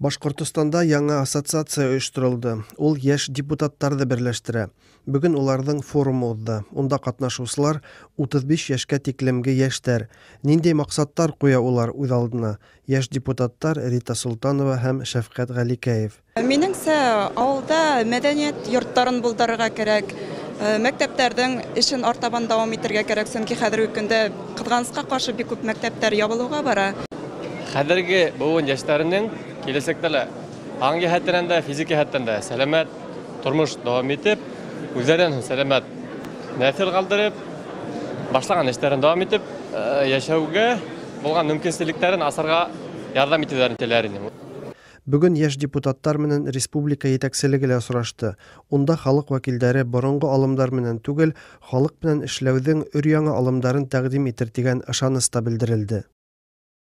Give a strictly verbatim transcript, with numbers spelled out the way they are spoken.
Башкортостанда яңа ассоциация оештырылды. Ул яшь депутаттарны берләштерә. Бүген уларның форумы узды. Унда катнашучылар утыз биш яшькә тиклемге яшьтәр. Нинди максатлар куя улар үз алдына? Яшь депутаттар Рита Солтанова һәм Шәфкать Галикәев. Минеңсә, авылда мәдәният йортларын булдырырга кирәк. Мәктәпләрнең эшен артабан дәвам итәргә кирәк, чөнки хәзерге көндә кызганычка каршы бик күп мәктәпләр ябылуга бара. Хәзерге буын яшьләренең киләчәктә лә аң җәһәтеннән дә, физик җәһәттән дә сәламәт тормыш дәвам итеп, үзләрен сәламәт нәсел калдырып, башлаган эшләрен дәвам итеп, яшәүгә булган мөмкинлекләрен асарга ярдәм итүләрен теләр идем. Бүген яшь депутаттар менән республика етәкчелеге лә очрашты. Унда халык вәкилләре борынгы алымдар менән түгел, халык менән эшләүҙең өр-яңы алымдарын тәкъдим итер дигән ышаныс та белдерелде.